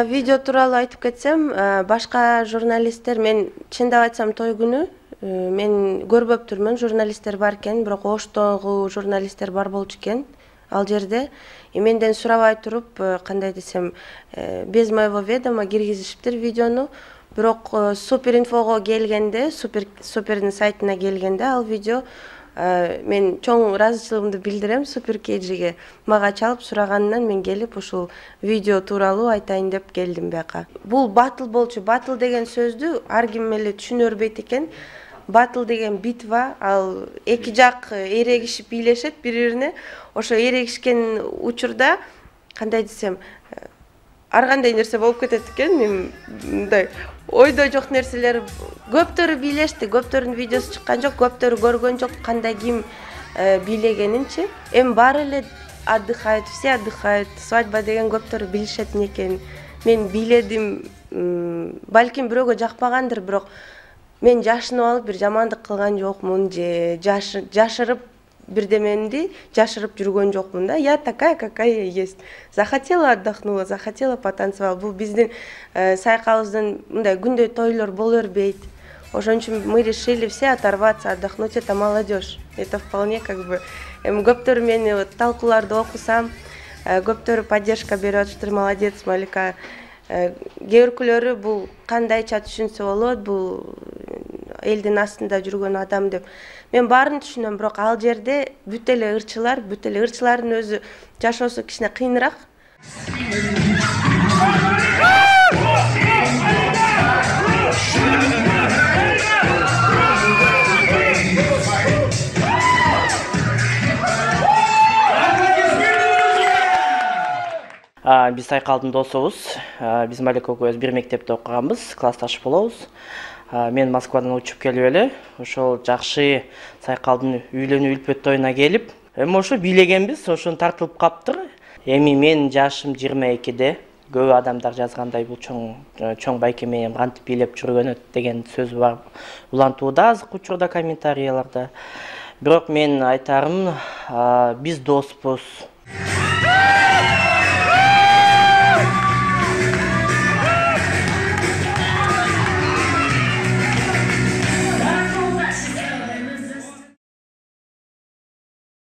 Видео тууралуу айтып кетсем, башка журналисттер, мен чындап айтсам той күнү мен көрбөптүрмүн, журналисттер бар экен, бирок Оштогу журналисттер бар болчу экен ал жерде. Менден сурабай туруп, кандай десем, без моего ведома киргизишиптир видеону. Бирок Суперинфого келгенде, Супердин сайтына келгенде ал видео мен чоң ыраазычылыгымды билдирем Супер KG'ге. Мага чалып сураганынан мен келип ушул видео тууралуу айтайын деп келдим бияка. Бул батыл болчу. Батыл деген сөздү ар ким эле түшүнө бербейт экен. Батыл деген битва, ал эки жак эрегишип бийлешет бири-бирине. Ошо эрегишкен учурда, кандай десем, ар кандай нерсе болуп кетет экен. Мындай ойдо жок нерселер, көптөрү бийлешти, көптөрүнүн видеосу чыккан жок, көптөрү көргөн жок кандай ким бийлегенинчи. Эми баары эле отдыхают, все отдыхают. Свадьба деген көптөрү билишет экен. Мен бийледим, балким бирөөгө жакпагандыр, бирок мен жашынып алып бир жамандык кылган жокмун же жашырып бирдемемди жашырып жүргөн жокмун да. Я такая, какая есть. Захотела отдохнула, захотела потанцевала. Бул биздин сайкалыбыздын мындай күндөй тойлор боло бербейт. Ошон үчүн мы решили все оторваться, отдохнуть. Это молодежь. Это вполне как бы көптөр мени талкууларды окусам, көптөрү поддержка берип атыптыр. Молодец, Малика. Кээ биркөлөрү бул кандайча түшүнсө болот, бул элдин астында жүргөн адам деп. Мен баарын түшүнөм, бирок ал жерде бүт эле ырчылардын өзү жашоосу кичине кыйыныраак. Биз Сайкалдын досубуз. Биз Малика экөөбүз бир мектепте окуганбыз, классташ болобуз. Мен Москвадан учуп келип эле, ошол жакшы Сайкалдын үйлөнүү үлпөт тоюна келип, эми ошо бийлегенбиз, ошону тартылып каптыр. Эми мен жашым 22-де. Көп адамдар жазгандай бул чоң байкеме кантип бийлеп жүргөнөт деген сөз бар. Улантууда азыркы учурда комментарийлерде. Бирок мен айтарым, биз доспуз.